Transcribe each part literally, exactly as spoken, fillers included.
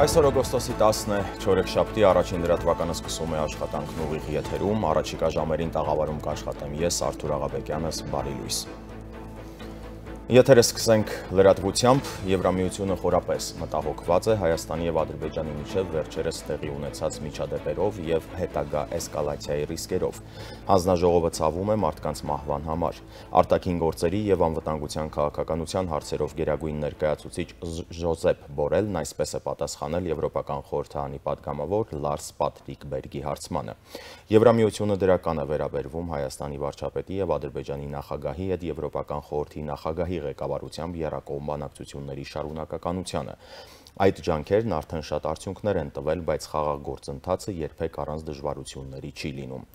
Այսօր օգոստոսի տասն է, չորեքշաբթի առաջին լրատվականը սկսում է աշխատանքն ուղիղ եթերում, առաջիկա ժամերին տաղավարում կաշխատեմ ես, Արթուր Աղաբեկյանս, բարի լույս։ Եթերը սկսենք լրատվությամբ, Եվրամիությունը խորապես մտահոգված է Հայաստանի եւ Ադրբեջանի միջև վերջերս տեղի ունեցած միջադեպերով եւ հետագա էսկալացիայի ռիսկերով։ Հանձնաժողովը ցավում է մարդկանց մահվան համար։ Արտաքին գործերի եւ անվտանգության քաղաքականության հարցերով գերագույն ներկայացուցիչ Ժոզեփ Բորելն այսպես է պատասխանել Եվրոպական խորհրդարանի պատգամավոր Լարս Պատրիկ Բերգի հարցմանը։ Եվրամիությունը դրական է վերաբերվում Հայաստանի վարչապետի եւ Ադրբեջանի նախագահի հետ Եվրոպական խորհրդի նախագահի ղեկավարությամբ եռակողմ բանակցությունների շարունակականությանը։ Այդ ջանքերն արդեն շատ արդյունքներ են տվել, բայց խաղաղ գործընթացը երբեք առանց դժվարությունների չի լինում։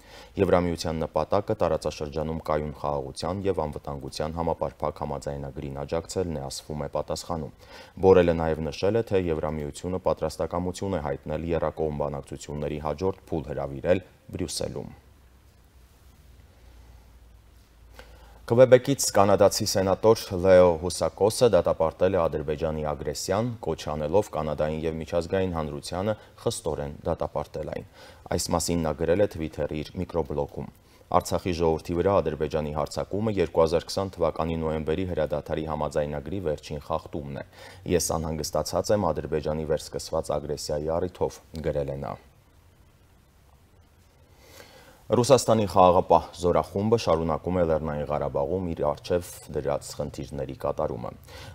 Եվրամիության նպատակը տարածաշրջանում կայուն խաղաղության եւ անվտանգության համապարփակ համաձայնագրին աջակցելն է, ասվում է պատասխանում։ Բորելը նաեւ նշել է, թե Եվրամիությունը պատրաստակամություն է հայտնել եռակողմ բանակցությունների հաջորդ փուլ հրավիրել Բրյուսելում։ Քվեբեկից կանադացի սենատոր Լեո Հուսակոսը դատապարտել է Ադրբեջանի ագրեսիան, կոչ անելով Կանադային եւ միջազգային հանրությանը խստորեն դատապարտել այն։ Այս մասին նա գրել է Twitter-ի իր միկրոբլոգում։ Արցախի ժողովրդի վրա Ադրբեջանի հարձակումը երկու հազար քսան թվականի նոյեմբերի հրադադարի համաձայնագրի վերջին խախտումն է։ Ես անհանգստացած եմ Ադրբեջանի վերսկսված ագրեսիայի առիթով, գրել է նա։ Ռուսաստանի խաղաղապահ զորախումբը շարունակում է Լեռնային Ղարաբաղում իր առջև դրած խնդիրների կատարումը։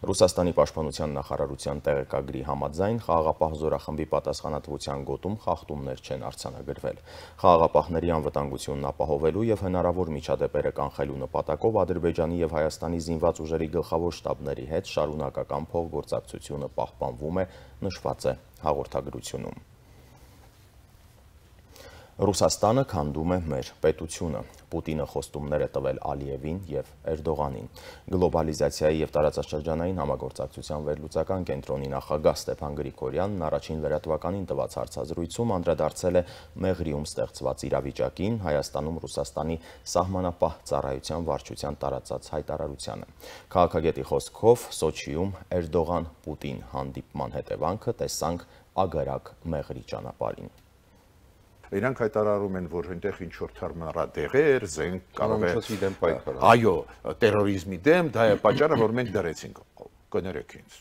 Ռուսաստանի պաշտպանության նախարարության տեղեկագրի համաձայն խաղաղապահ զորախմբի պատասխանատվության գոտում խախտումներ չեն արձանագրվել։ Խաղաղապահների անվտանգությունն ապահովելու եւ հնարավոր միջադեպերը կանխելու նպատակով Ադրբեջանի եւ Հայաստանի զինված ուժերի գլխավոր շտաբների հետ շարունակական փոխգործակցությունը պահպանվում է, նշված է հաղորդագրությունում։ Ռուսաստանը քանդում է մեր պետությունը։ Պուտինը խոստումներ է տվել Ալիևին եւ Էրդողանին։ Գլոբալիզացիայի եւ տարածաշրջանային համագործակցության վերլուծական կենտրոնի նախագահ Ստեփան Գրիգորյանն առաջին լրատվականին տված հարցազրույցում անդրադարձել է Մեղրիում ստեղծված իրավիճակին, Հայաստանում Ռուսաստանի սահմանապահ ծառայության վարչության տարածած հայտարարությանը։ Քաղաքագետի խոսքով Սոչիում Էրդողան-Պուտին հանդիպման հետևանքը տեսանք Ագարակ Մեղրի ճանապարհին։ Իրանք հայտարարում են, որ այնտեղ ինչ-որ թարմարատեղեր, զենք կարող է, այո, տերորիզմի դեմ, դա է պատճառը, որ մենք դրեցինք, կներեք ինձ,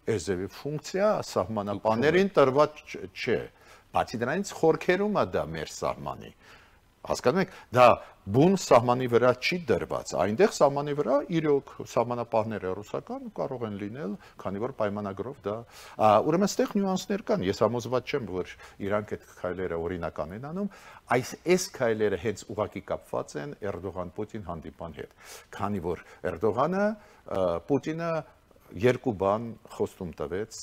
այս ձևի ֆունկցիա սահմանապահներին տրված չէ, բացի դրանից խորքերում է դա մեր սահմանի, հասկանում եք, դա բուն սահմանի վրա չի դրված, այնտեղ սահմանի վրա իրոք սահմանապահները ռուսական կարող են լինել, քանի որ պայմանագրով դա, ուրեմն այստեղ նյուանսներ կան, ես համոզված չեմ, որ իրանք այդ քայլերը օրինական են անում, այս այս քայլերը հենց ուղղակի կապված են Էրդողան-Պուտին հանդիպան հետ, քանի որ Էրդողանը, Պուտինը երկու բան խոստում տվեց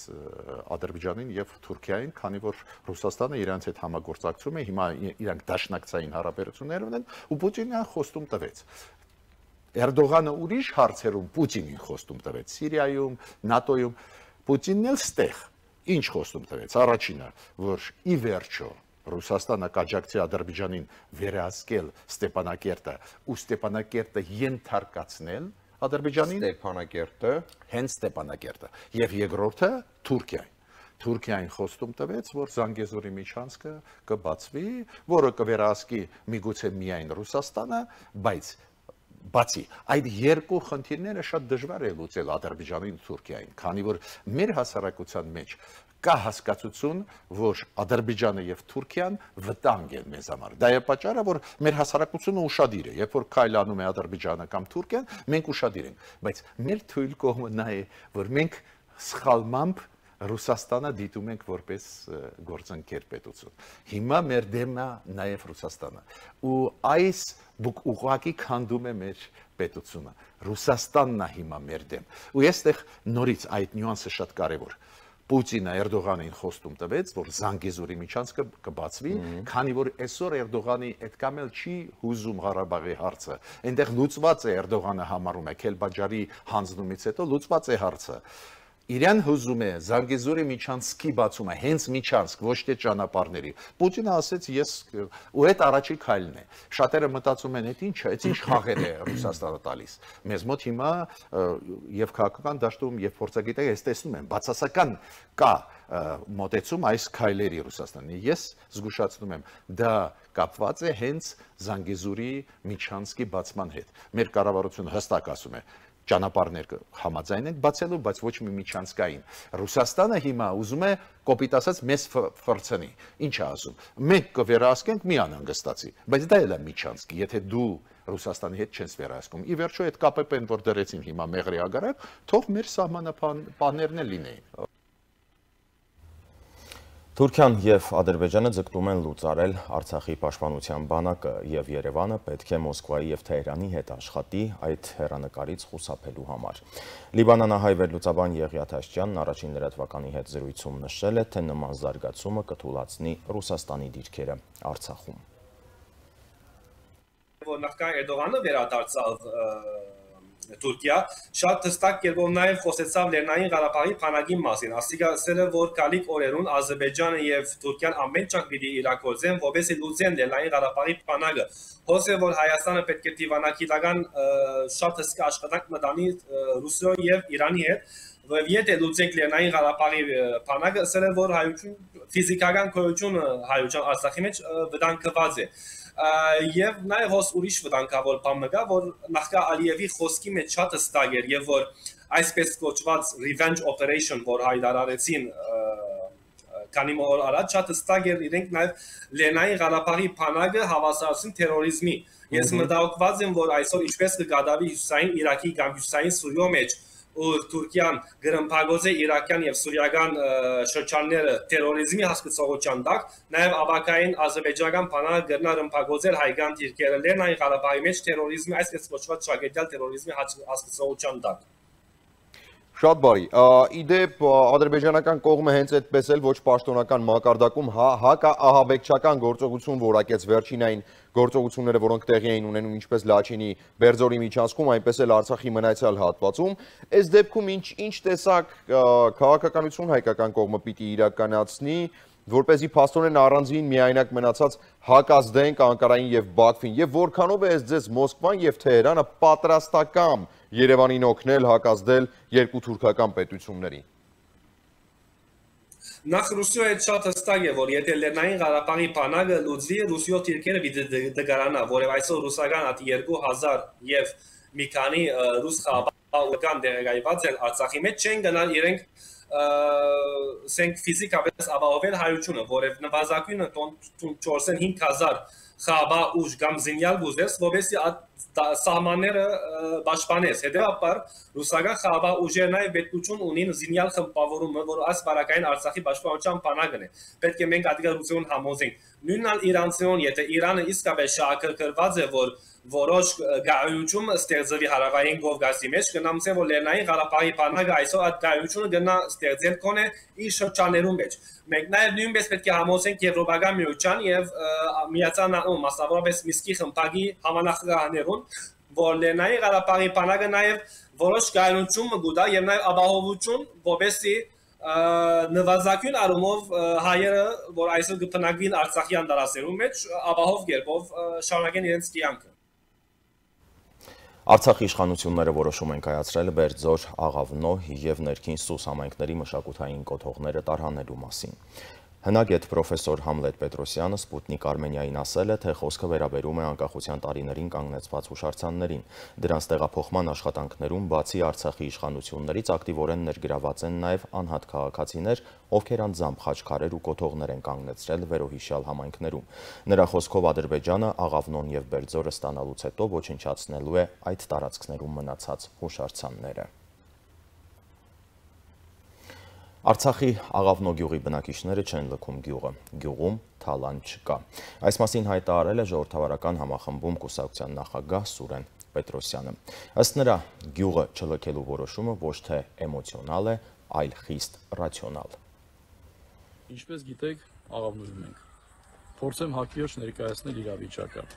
Ադրբեջանին եւ Թուրքիային, քանի որ Ռուսաստանը իրանց հետ համագործակցում է, հիմա իրանք դաշնակցային հարաբերություններ ունեն, ու Պուտինը խոստում տվեց։ Էրդողանը ուրիշ հարցերում Պուտինին խոստում տվեց, Սիրիայում, ՆԱՏՕ-ում, Պուտինն էլ ստեղ ինչ խոստում տվեց։ Առաջինը, որ ի վերջո Ռուսաստանը կաջակցի Ադրբեջանին վերահսկել Ստեփանակերտը ու Ստեփանակերտը ենթարկացնել Ադրբեջանին Ստեփանակերտը, հենց Ստեփանակերտը, եւ երկրորդը Թուրքիային։ Թուրքիային խոստում տվեց, որ Զանգեզուրի միջանցքը կբացվի, որը կվերահսկի միգուցե միայն Ռուսաստանը, բայց բացի այդ երկու խնդիրները շատ դժվար է լուծել Ադրբեջանին ու Թուրքիային, քանի որ մեր հասարակության մեջ կա հասկացություն, որ Ադրբեջանը եւ Թուրքիան վտանգ են մեզ համար։ Դա է պատճառը, որ մեր հասարակությունը ուշադիր է, երբ որ քայլանում է Ադրբեջանը կամ Թուրքիան, մենք ուշադիր ենք, բայց մեր թույլ կողմը նա է, որ մենք սխալմամբ Ռուսաստանը դիտում ենք որպես գործընկեր պետություն։ Հիմա մեր դեմն է նաև Ռուսաստանը։ Ու այս ուղղակի քանդում է մեր պետությունը։ Ռուսաստանն է հիմա մեր դեմ։ Ու այստեղ նորից այդ նյուանսը շատ կարևոր։ Պուտինը Էրդողանին խոստում տվեց, որ Զանգեզուրի միջանցքը կբացվի, քանի որ այսօր Էրդողանի այդքան էլ չի հուզում Ղարաբաղի հարցը։ Այնտեղ լուծված է Էրդողանը համարում է Քելբաջարի հանձնումից հետո լուծված է հարցը։ Իրան հուզում է Զանգեզուրի միջանցքի բացումը, հենց միջանցք, ոչ թե ճանապարհների։ Պուտինը ասեց, ես ու այդ առաջի քայլն է։ Շատերը մտածում են, այդ ինչ է, այդ ինչ խաղեր է Ռուսաստանը տալիս։ Մեզ մոտ հիմա եւ քաղաքական դաշտում եւ փորձագետները այս տեսնում են, բացասական կա մոտեցում այս քայլերի Ռուսաստանի։ Ես զգուշացնում եմ, դա կապված է հենց Զանգեզուրի միջանցքի բացման հետ։ Մեր կառավարությունը հստակ ասում է, ճանապարհներ համաձայն են բացելու, բայց ոչ մի միջանցքային։ Ռուսաստանը հիմա ուզում է կոպիտ ասած մեզ ֆրցնի։ Ինչ է ասում։ Մենք կվերահսկենք մի անհանգստացի, բայց դա էլ է միջանցք, եթե դու Ռուսաստանի հետ չես վերահսկում։ Ի վերջո այդ ԿՊՊ-ն որ դրեցին հիմա մեղրի ագարակ, թող մեր սահմանապահներն էլ լինեին։ Թուրքիան և Ադրբեջանը ձգտում են լուծարել Արցախի պաշտպանության բանակը և Երևանը պետք է Մոսկվայի և Թեհրանի հետ աշխատի այդ հեռանկարից խուսափելու համար։ Լիբանանահայ վերլուծաբան Եղիա Թաշչյանն առաջին լրատվականի հետ զրույցում նշել է, թե նման զարգացումը կթուլացնի Ռուսաստանի դիրքերը Արցախում։ Որ նախքան Էրդողանը վերադարձավ Թուրքիա, շատ հստակ կերպով նաև խոսեցավ Լեռնային Ղարաբաղի բանակի մասին, ասիկ ասել է, որ գալիք օրերուն Ադրբեջանը եւ Թուրքիան ամեն ճանապարհ պիտի իրագործեն, որովհետեւ լուծեն Լեռնային Ղարաբաղի բանակը։ Խոսել որ Հայաստանը պետք է դիվանագիտական շատ հսկա աշխատանք մտանի Ռուսիայի եւ Իրանի հետ, եւ եթե լուծենք Լեռնային Ղարաբաղի բանակը, ասել է, որ հայություն ֆիզիկական գոյությունը հայության Արցախի մեջ վտանգված է։ Եվ նաև հոս ուրիշ վտանգավոր բան կա, որ նախկա Ալիևի խոսքի մեջ շատ հստակ էր եւ որ այսպես կոչված revenge operation, որ հայտարարեցին քանի օր առաջ, շատ հստակ էր իրենք նաև Լեռնային Ղարաբաղի բանակը հավասարեցին թերորիզմի։ Ես մտահոգված եմ, որ այսօր ինչպես կգադավի հյուսային Իրաքի կամ հյուսային Սուրիո մեջ ու Թուրքիան գրմփագոց է իրաքյան եւ սուրիական շրջանները տերորիզմի հասկացողության տակ, նաեւ ավակային ազերբայջանական բանակը գրնա ռմփագոծել հայկական դիրքերը Լեռնային Ղարաբաղի մեջ տերորիզմի այսպես կոչված շագետյալ տերորիզմի հասկացողության տակ։ Շատ բարի։ Իդեպ ադրբեջանական կողմը հենց այդպես էլ ոչ պաշտոնական մակարդակում հակաահաբեկչական գործողություն որակեց վերջինային գործողությունները, որոնք տեղի էին ունենում ինչպես Լաչինի Բերձորի միջանցքում, այնպես էլ Արցախի մնացյալ հատվածում։ Այս դեպքում ինչ ինչ տեսակ քաղաքականություն հայկական կողմը պիտի իրականացնի, որպեսզի փաստորեն առանձին միայնակ մնացած հակազդենք Անկարային եւ Բաքվին, եւ որքանով է ձեզ Մոսկվան եւ Թեհրանը պատրաստական Երևանին օգնել հակազդել երկու թուրքական պետություններին։ Նախ Ռուսիայի հետ շատ հստակ է, որ եթե Լեռնային Ղարաբաղի բանակը լուծի, Ռուսիո դիրքերը պիտի դգարանա, որև այսօր ռուսական ատի երկու հազար եւ մի քանի ռուս խաղաղական դեղեկայված են Արցախի մեջ չեն գնալ իրենք սենք ֆիզիկապես ապահովել հայությունը, որև նվազագույնը չորսունհինգ հազար խաբա ուժ կամ զինյալ գուզես, որովհետեւ սահմանները պաշտպանես։ Հետևաբար ռուսական խաբա ուժերը նաև պետություն ունին զինյալ խմբավորումը, որ այս բարակային Արցախի պաշտպանության բանակն է։ Պետք է մենք ադգարություն համոզենք։ Նույնն Իրանցիոն, եթե Իրանը իսկապես շահագրգռված է, որ որոշ գայություն ստեղծվի հարավային Կովկասի մեջ, կնամսեն, որ Լեռնային Ղարաբաղի բանակը այսօր այդ գայությունը գնա ստեղծել կոնե իր շրջաններում մեջ։ Մենք նաև նույնպես պետք է համոզենք Եվրոպական միության եւ Միացյալ Նահանգների, մասնավորապես Միսկի խմբակի համանախագահաներուն, որ Լեռնային Ղարաբաղի բանակը նաև որոշ գայություն կգուտա եւ նաև ապահովություն, որպեսզի նվազագույն առումով հայերը, որ այսօր կփնակվին Արցախյան տարածքներում մեջ, ապահով կերպով շարունակեն իրենց կյանքը։ Արցախի իշխանությունները որոշում են կայացրել Բերձոր, Աղավնո և ներքին Սուս համայնքների մշակութային կոթողները տարհանելու մասին։ Հնագետ պրոֆեսոր Համլետ Պետրոսյանը Սպուտնիկ Արմենիային ասել է, թե խոսքը վերաբերում է անկախության տարիներին կանգնեցված հուշարձաններին։ Դրանց տեղափոխման աշխատանքներում բացի Արցախի իշխանություններից ակտիվորեն ներգրաված են նաև անհատ քաղաքացիներ, ովքեր անձամբ խաչքարեր ու կոթողներ են կանգնեցրել վերոհիշյալ համայնքներում։ Նրա խոսքով Ադրբեջանը Աղավնոն և Բերձորը ստանալուց հետո ոչնչացնելու է այդ տարածքներում մնացած հուշարձանները։ Արցախի Աղավնո գյուղի բնակիչները չեն լքում գյուղը, գյուղում թալան չկա։ Այս մասին հայտարարել է ժողովրդավարական համախմբում կուսակցության նախագահ Սուրեն Պետրոսյանը։ Ըստ նրա, գյուղը չլքելու որոշումը ոչ թե էմոցիոնալ է, այլ խիստ ռացիոնալ։ Ինչպես գիտեք, Աղավնոյում ենք։ Փորձեմ հակիրճ ներկայացնել իրավիճակը։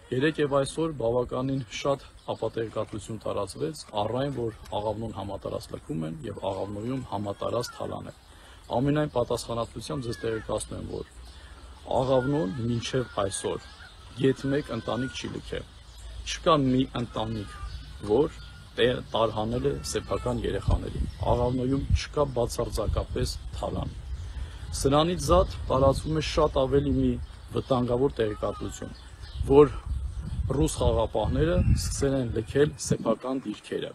Երեք եւ այսօր բավականին շատ ապատերկատվություն տարածվեց առայն, որ աղավնոն համատարած լքում են եւ աղավնոյում համատարած թալան է։ Ամենայն պատասխանատվությամբ ձեզ տեղեկացնում եմ, որ աղավնոն մինչև այսօր գեթ մեկ ընտանիք չի լքել։ Չկա մի ընտանիք, որ տարհանել է սեփական երեխաներին։ Աղավնոյում չկա բացարձակապես թալան։ Սրանից զատ տարածվում է շատ ավելի մի վտանգավոր տեղեկատվություն, որ ռուս խաղապահները սկսել են լքել սեփական դիրքերը։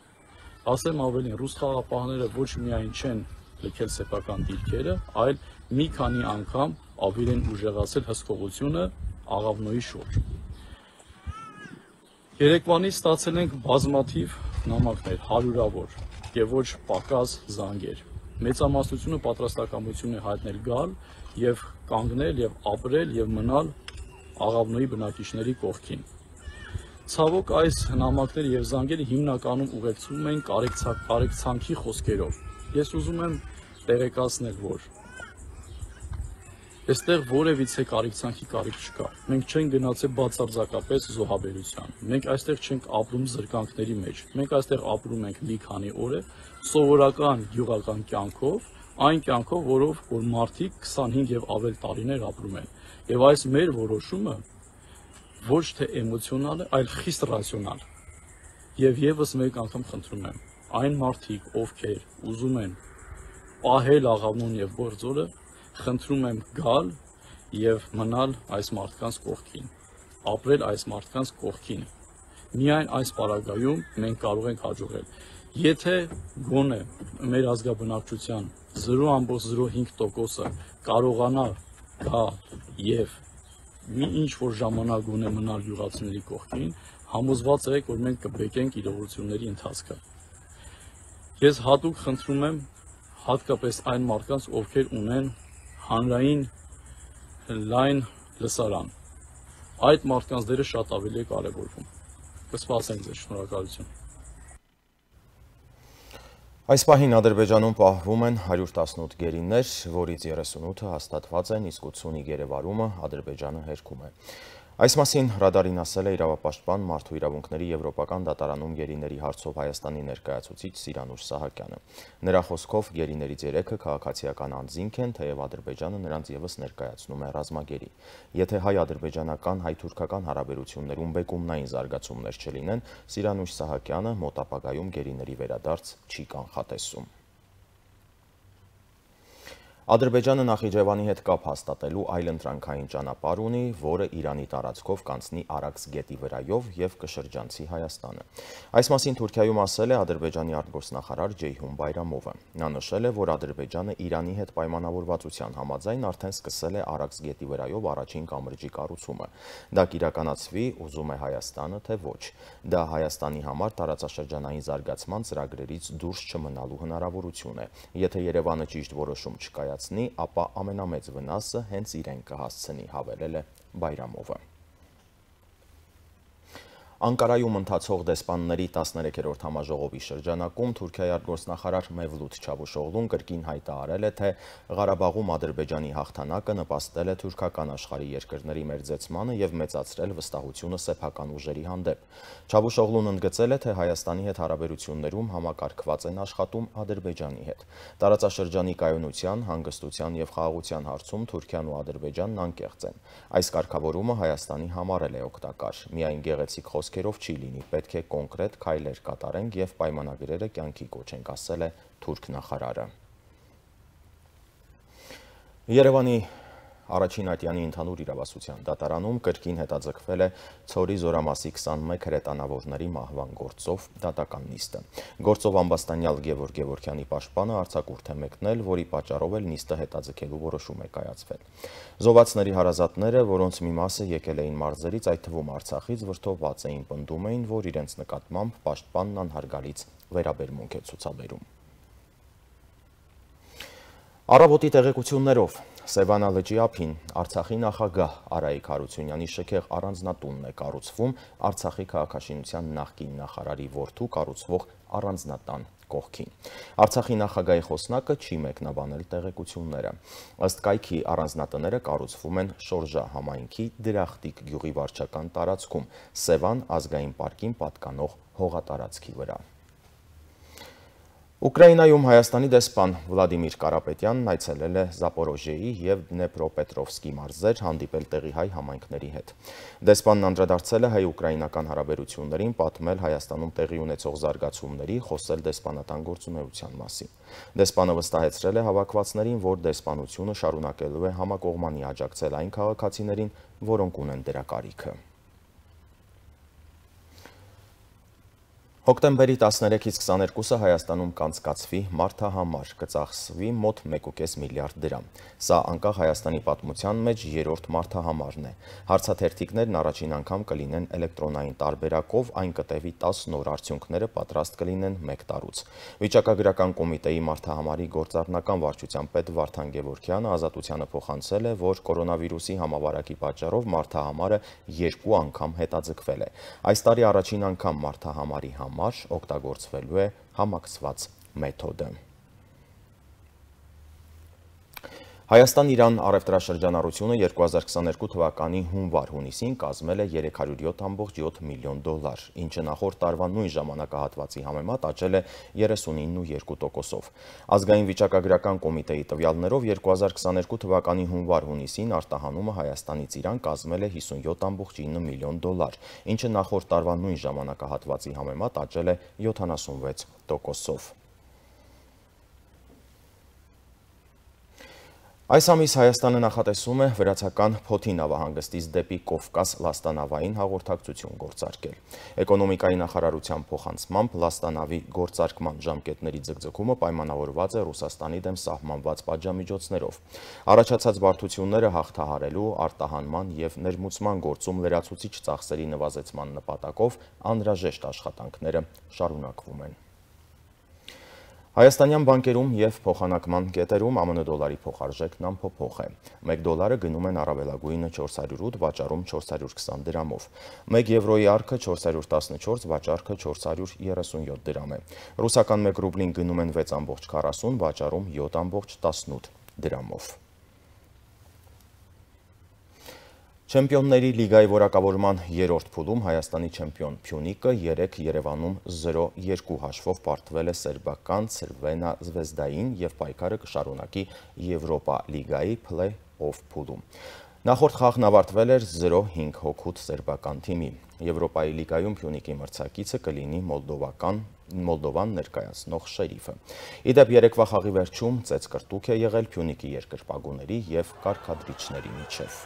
Ասեմ ավելին, ռուս խաղապահները ոչ միայն չեն լքել սեփական դիրքերը, այլ մի քանի անգամ ավելի են ուժեղացել հսկողությունը աղավնոյի շուրջ։ Երեկվանից ստացել ենք բազմաթիվ նամակներ, հարյուրավոր եւ ոչ պակաս զանգեր։ Մեծամասնությունը պատրաստակամություն է հայտնել գալ եւ կանգնել եւ ապրել եւ մնալ աղավնոյի բնակիչների կողքին։ Ցավոք այս նամակները եւ զանգերը հիմնականում ուղեկցվում են կարեկցանքի խոսքերով։ Ես ուզում եմ տեղեկացնել, որ այստեղ որևիցե կարեկցանքի կարիք չկա։ Մենք չենք գնացել բացարձակապես զոհաբերության։ Մենք այստեղ չենք ապրում զրկանքների մեջ։ Մենք այստեղ ապրում ենք մի քանի օր, սովորական գյուղական կյանքով, այն կյանքով, որով որ մարդիկ քսանհինգ եւ ավել տարիներ ապրում են։ Եվ այս մեր որոշումը ոչ թե էմոցիոնալ է, այլ խիստ ռացիոնալ։ Եվ եւս մեկ անգամ խնդրում եմ, այն մարդիկ, ովքեր ուզում են պահել աղավնոն եւ գործորը, խնդրում եմ գալ եւ մնալ այս մարդկանց կողքին, ապրել այս մարդկանց կողքին։ Միայն այս պարագայում մենք կարող ենք հաջողել։ Եթե գոնե մեր ազգաբնակչության զրո ամբողջ զրո հինգ տոկոսը կարողանա գա եւ մի ինչ որ ժամանակ գոնե մնալ յուղացիների կողքին, համոզված եք, որ մենք կբեկենք իրողությունների ընթացքը։ Ես հատուկ խնդրում եմ հատկապես այն մարդկանց, ովքեր ունեն հանրային լայն լսարան։ Այդ մարդկանց դերը շատ ավելի է կարևորվում։ Կսպասենք ձեզ, շնորհակալություն։ Այս պահին Ադրբեջանում պահվում են հարյուր տասնութ գերիներ, որից երեսունութը հաստատված են, իսկ ութսունի գերեվարումը Ադրբեջանը հերքում է։ Այս մասին ռադարին ասել է իրավապաշտպան մարդու իրավունքների եվրոպական դատարանում գերիների հարցով Հայաստանի ներկայացուցիչ Սիրանուշ Սահակյանը։ Նրա խոսքով գերիներից երեքը քաղաքացիական անձինք են, թեև Ադրբեջանը նրանց ևս ներկայացնում է ռազմագերի։ Եթե հայ-ադրբեջանական, հայ-թուրքական հարաբերություններում բեկումնային զարգացումներ չլինեն, Սիրանուշ Սահակյանը մոտ ապագայում գերիների վերադարձ չի կանխատեսում։ Ադրբեջանը Նախիջևանի հետ կապ հաստատելու այլընտրանքային ճանապարհ ունի, որը Իրանի տարածքով կանցնի Արաքս գետի վրայով եւ կշրջանցի Հայաստանը։ Այս մասին Թուրքիայում ասել է Ադրբեջանի արտգործնախարար Ջեյհուն Բայրամովը։ Նա նշել է, որ Ադրբեջանը Իրանի հետ պայմանավորվածության համաձայն արդեն սկսել է Արաքս գետի վրայով առաջին կամրջի կառուցումը։ Դա կիրականացվի, ուզում է Հայաստանը, թե ոչ։ Դա Հայաստանի համար տարածաշրջանային զարգացման ծրագրերից դուրս չմնալու հնարավորություն է։ Եթե Երևանը ճիշտ որոշում չկայացնի, ապա ամենամեծ վնասը հենց իրեն կհասցնի, հավելել է Բայրամովը։ Անկարայում ընթացող դեսպանների տասներեքերորդ համաժողովի շրջանակում Թուրքիայի արտգործնախարար Մևլութ Չավուշօղլուն կրկին հայտարարել է, թե Ղարաբաղում Ադրբեջանի հաղթանակը նպաստել է թուրքական աշխարհի երկրների մերձեցմանը եւ մեծացրել վստահությունը սեփական ուժերի հանդեպ։ Չավուշօղլուն ընդգծել է, թե Հայաստանի հետ հարաբերություններում համակարգված են աշխատում Ադրբեջանի հետ։ Տարածաշրջանի կայունության, հանգստության եւ խաղաղության հարցում Թուրքիան ու Ադրբեջանն անկեղծ են։ Այս կարգավորումը Հայաստանի համար էլ է օգտակար։ Միայն գեղեցիկ խոսքերով չի լինի, պետք է կոնկրետ քայլեր կատարենք եւ պայմանագրերը կյանքի կոչենք, ասել է թուրք նախարարը։ Երևանի Առաջին ատյանի ընդհանուր իրավասության դատարանում կրկին հետաձգվել է Ցորի զորամասի քսանմեկ հրետանավորների մահվան գործով դատական նիստը։ Գործով ամբաստանյալ Գևորգ Գևորգյանի պաշտպանը արձակուրդ է մեկնել, որի պատճառով էլ նիստը հետաձգելու որոշում է կայացվել։ Զոհվածների հարազատները, որոնց մի մասը եկել էին մարզերից, այդ թվում Արցախից, վրդովված էին, պնդում էին, որ իրենց նկատմամբ պաշտպանն անհարգալից վերաբերմունք է ցուցաբերում։ Առավոտի տեղեկություններով Սևանա լճի ափին Արցախի նախագահ Արայիկ Հարությունյանի շքեղ առանձնատունն է կառուցվում Արցախի քաղաքաշինության նախկին նախարարի որդու կառուցվող առանձնատան կողքին։ Արցախի նախագահի խոսնակը չի մեկնաբանել տեղեկությունները։ Ըստ կայքի առանձնատները կառուցվում են Շորժա համայնքի Դրախտիկ գյուղի վարչական տարածքում, Սևան ազգային պարկին պատկանող հողատարածքի վրա։ Ուկրաինայում Հայաստանի դեսպան Վլադիմիր Կարապետյանն այցելել է Զապորոժիեի և Դնեպրոպետրովսկի մարզեր, հանդիպել տեղի հայ համայնքների հետ։ Դեսպանն անդրադարձել է հայ-ուկրաինական հարաբերություններին, պատմել Հայաստանում տեղի ունեցող զարգացումների, խոսել դեսպանատան գործունեության մասին։ Դեսպանը վստահեցրել է հավաքվածներին, որ դեսպանությունը շարունակելու է համակողմանի աջակցել այն քաղաքացիներին, որոնք ունեն դրա կարիքը։ Հոկտեմբերի տասներեքից քսաներկուսը Հայաստանում կանցկացվի մարդահամար, կծախսվի մոտ մեկ ու կես միլիարդ դրամ։ Սա անկախ Հայաստանի պատմության մեջ երրորդ մարդահամարն է։ Հարցաթերթիկներն առաջին անգամ կլինեն էլեկտրոնային տարբերակով, այն կտևի տասը նոր արդյունքները պատրաստ կլինեն մեկ տարուց։ Վիճակագրական կոմիտեի մարդահամարի գործառնական վարչության պետ Վարդան Գևորգյանը Ազատությանը փոխանցել է, որ կորոնավիրուսի համավարակի պատճառով մարդահամարը երկու անգամ հետաձգվել է։ Այս տարի առաջին անգամ մարդահամարի համար օգտագործվելու է համակցված մեթոդը։ Հայաստան-Իրան առևտրաշրջանառությունը երկու հազար քսաներկու թվականի հունվար-հունիսին կազմել է երեք հարյուր յոթ կόμμα յոթ միլիոն դոլար, ինչը նախորդ տարվա նույն ժամանակահատվածի համեմատ աճել է երեսունինը կόμμα երկու տոկոսով։ Ազգային վիճակագրական կոմիտեի տվյալներով երկու հազար քսաներկու թվականի հունվար-հունիսին արտահանումը Հայաստանից Իրան կազմել է հիսունյոթ կόμμα ինը միլիոն դոլար, ինչը նախորդ տարվա նույն ժամանակահատվածի համեմատ աճել է յոթանասունվեց տոկոսով։ Այս ամիս Հայաստանը նախատեսում է վրացական Փոթի նավահանգստից դեպի Կովկաս լաստանավային հաղորդակցություն գործարկել։ Էկոնոմիկայի նախարարության փոխանցմամբ լաստանավի գործարկման ժամկետների ձգձգումը պայմանավորված է Ռուսաստանի դեմ սահմանված պատժամիջոցներով։ Առաջացած բարդությունները հաղթահարելու, արտահանման և ներմուծման գործում լրացուցիչ ծախսերի նվազեցման նպատակով անհրաժեշտ աշխատանքները շարունակվում են։ Հայաստանյան բանկերում և փոխանակման կետերում ԱՄՆ դոլարի փոխարժեքն անփոփոխ է։ Մեկ դոլարը գնում են առավելագույնը չորս հարյուր ութ, վաճառում չորս հարյուր քսան դրամով։ Մեկ եվրոյի առքը չորս հարյուր տասնչորս, վաճառքը չորս հարյուր երեսունյոթ դրամ է։ Ռուսական մեկ ռուբլին գնում են վեց կόμμα քառասուն, վաճառում յոթ կόμμα տասնութ դրամով։ Չեմպիոնների լիգայի որակավորման երրորդ փուլում Հայաստանի չեմպիոն Փյունիկը երեկ Երևանում զրո երկու հաշվով պարտվել է սերբական Ցրվենա Զվեզդային և պայքարը կշարունակի Եվրոպա լիգայի փլեյ-օֆ փուլում։ Նախորդ խաղն ավարտվել էր զրո հինգ հոգուց սերբական թիմի։ Եվրոպայի լիգայում Փյունիկի մրցակիցը կլինի մոլդովական Մոլդովան ներկայացնող Շերիֆը։ Իդեպ երեկվա խաղի վերջում ծեծկրտուք է եղել Փյունիկի երկրպագուների և կարգադրիչների միջև։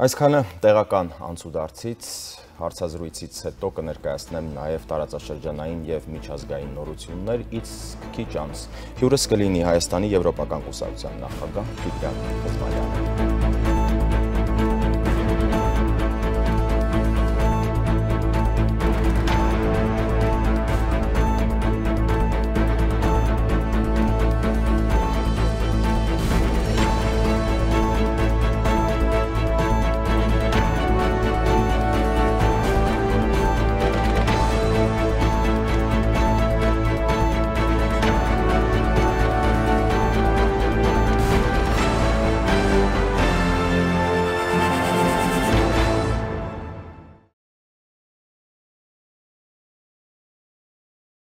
Այսքանը տեղական անցուդարձից, հարցազրույցից հետո կներկայացնեմ նաև տարածաշրջանային և միջազգային նորություններ, իսկ քիչ անց հյուրս կլինի Հայաստանի Եվրոպական կուսակցության նախագահ Տիգրան Էզմալյանը։